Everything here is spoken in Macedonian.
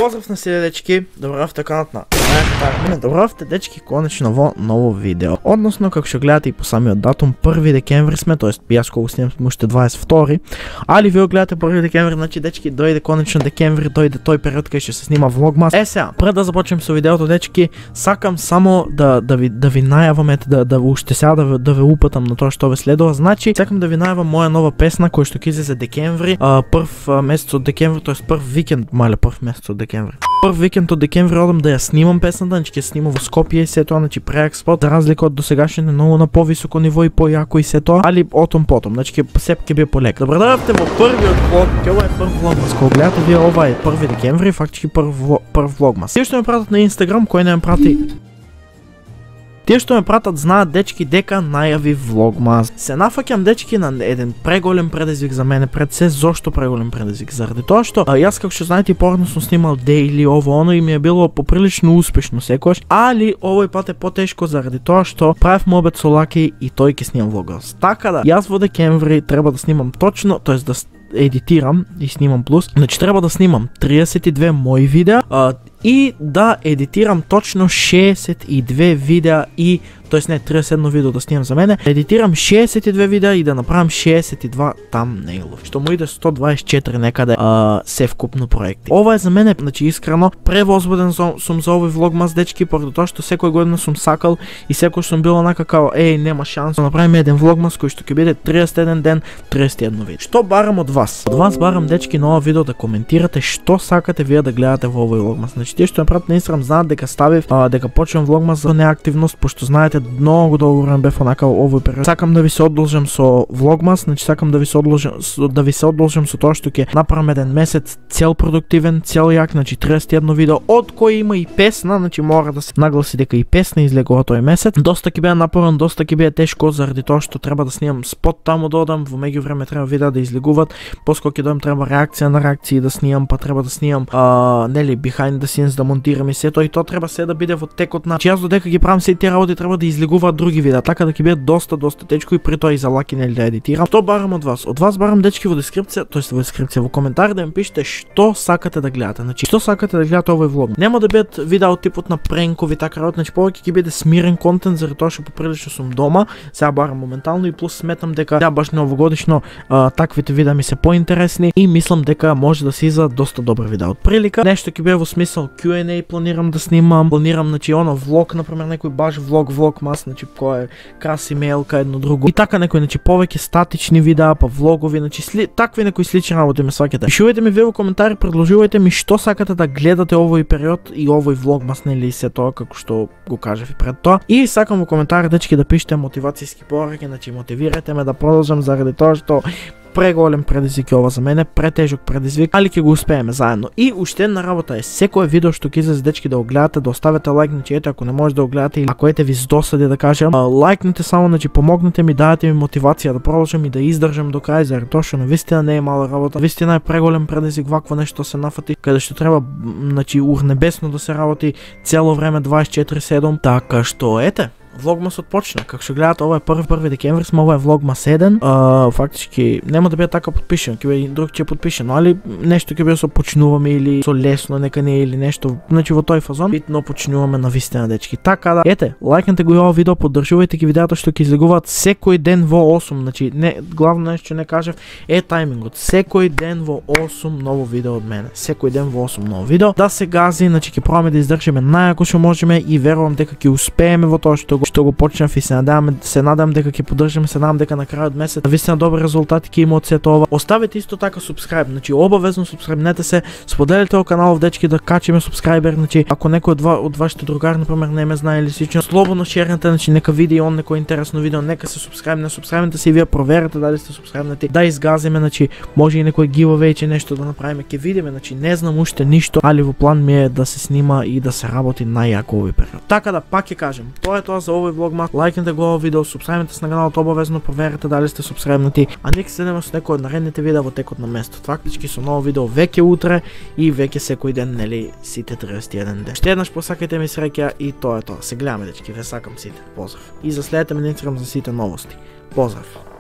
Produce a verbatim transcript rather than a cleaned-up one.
Поздрав на сите дечки, добравте канат на Добравте дечки, конечно во ново видео. Односно, како што гледате и по самиот датум, први декември сме, тоест јас кога снимам сме уште дваесет и втори, али вие гледате први декември, значи дечки дојде конечно декември, дојде тој период кај што се снима влогмас. Е сега, пред да започнем со видеото дечки, сакам само да да ви да ви најавам, ете да да уште сега да да ве упатам на тоа што ве следува. Значи, сакам да ви најавам моја нова песна која што ќе излезе декември, а, прв а, месец од декември, тоест прв викенд, мале прв месец од декември. Прв викенд од декември одам да ја снимам песната, значи ќе снимам во Скопје и се тоа, значи преак спот, за разлика од досегашните многу на повисоко ниво и појако и се тоа, али отом потом, значи ќе сеп ќе биде полека. Добре дојдовте во првиот влог, ќе ова е прв влогмас. Кога гледате вие ова е први декември, фактички прв прв влогмас. Тие што ме пратат на Инстаграм, кој не ме прати Тие што ме пратат знаат дечки дека најави влогмас. Се нафаќам дечки на еден преголем предизвик за мене, пред се зошто преголем предизвик, заради тоа што а, јас како што знаете поредно сум снимал дејли ово оно и ми е било поприлично успешно секогаш, али овој пат е потешко заради тоа што правев мобет со Лаки и тој ќе снимам влогмас. Така да, јас во декември треба да снимам точно, тоест да едитирам и снимам плюс, значи треба да снимам триесет и две мои видеа а, и да едитирам точно шеесет и две видеа и тоест не триесет и едно видео да снимам за мене, едитирам шеесет и две видеа и да направам шеесет и два тамнейлови, што му иде сто дваесет и четири некаде а, се вкупно проекти. Ова е за мене, значи искрено, превозбуден сум за овој влогмас дечки, поради тоа што секоја година сум сакал и секој сум бил онака као еј нема шанс да направиме еден влогмас кој што ќе биде триесет и еден ден, триесет и едно видео. Што барам од вас? Од вас барам дечки на ова видео да коментирате што сакате вие да гледате во овој влогмас. Значи тие што ме пратат на Инстаграм знаат дека ставив а, дека почнувам влогмас за неактивност, пошто знаете многу долго време бев онака овој период. Сакам да ви се одолжам со влогмас, значи сакам да ви се одолжам да ви се одолжам со тоа што ќе направам еден месец цел продуктивен, цел јак, значи триесет и едно видео, од кој има и песна, значи мора да се нагласи дека и песна излегува тој месец. Доста ќе биде напорен, доста ќе биде тешко заради тоа што треба да снимам спот таму да одам, во меѓувреме треба видеа да излегуваат, поскоро ќе дојдам треба реакција на реакции да снимам, па треба да снимам а, нели behind the scenes да монтирам и се тоа и тоа треба се да биде во текот на. Јас додека ги правам сите тие работи треба да излегуваат други видеа, така да ќе биде доста доста тешко и при тоа и за Лаки нели да едитирам. Што барам од вас? Од вас барам дечки во дескрипција, тоест во дескрипција, во коментари да ми пишете што сакате да гледате. Значи што сакате да гледате овој влог. Нема да бидат видеа од типот на пренкови така работи, значи повеќе ќе биде смирен контент заради тоа што поприлично сум дома. Сега барам моментално и плюс сметам дека ја баш новогодишно а, таквите видеа ми се поинтересни и мислам дека може да се излезат доста добри видеа. Од прилика нешто ќе биде во смисол Q and A планирам да снимам, планирам значи оно влог, например некој баш влог влог мас, значи кој е краси мејлка едно друго. И така некој значи повеќе статични видеа, па влогови, значи сли, такви некои слични работи ме сваќате. Пишувајте ми вие во коментари, предложувајте ми што сакате да гледате овој период и овој влогмас нели се тоа како што го кажав и пред тоа. И сакам во коментари дечки да пишете мотивацијски пораки, значи мотивирате ме да продолжам заради тоа што преголем предизвик е ова за мене, претежок предизвик, али ќе го успееме заедно. И уште една работа е секое видео што ќе излезе дечки да го гледате, да оставите лайк, значи ете ако не може да го гледате или ако ете ви здосади да кажем, лайкнете само, значи помогнете ми, дадете ми мотивација да продолжам и да издржам до крај, заради тоа што навистина не е мала работа. Вистина е преголем предизвик вакво нешто се нафати, каде што треба значи урнебесно да се работи цело време дваесет и четири седум, така што ете влогмасот почна. Како што гледате, ова е први први декември, сме ова е влогмас еден. А, фактички нема да биде така подпишан, ќе биде друг ќе подпишан, али нешто ќе биде со почнуваме или со лесно, нека не или нешто, значи во тој фазон, битно почнуваме на вистина дечки. Така да, ете, лајкнете го и ова видео, поддржувајте ги видеата што ќе излегуваат секој ден во осум, значи не главно нешто не кажав е тајмингот. Секој ден во осум ново видео од мене. Секој ден во осум ново видео. Да се гази, значи ќе пробаме да издржиме најако што можеме и верувам дека ќе успееме во тоа што што го почнав и се надевам, се надевам дека ќе поддржиме, се надевам дека на крајот месец вистина добри резултати ќе има од сето ова. Оставете исто така субскрайб, значи обавезно субскрайбнете се, споделете овој канал дечки да качиме субскрайбер, значи ако некој од, од вашите другари например не ме знае или слично, слободно шернете, значи нека види и он некој интересно видео, нека се субскрайбне, субскрайбнете се и вие проверете дали сте субскрайбнати, да изгазиме, значи може и некој giveaway че нешто да направиме, ќе видиме, значи не знам уште ништо, али во план ми е да се снима и да се работи најјако овој период. Така да пак ќе кажем, тоа е тоа за овој влогмас. Лајкнете го овој видео, субскрайбнете се на каналот обавезно, проверете дали сте субскрайбнати, а нека се видиме со некој од наредните видеа во текот на месецот. Фактички со ново видео веќе утре и веќе секој ден, нели, сите триесет и еден ден. Ще еднаш посакајте ми среќа и тоа е тоа. Се гледаме дечки, ве сакам сите. Поздрав. И за следете ме на Инстаграм за сите новости. Поздрав.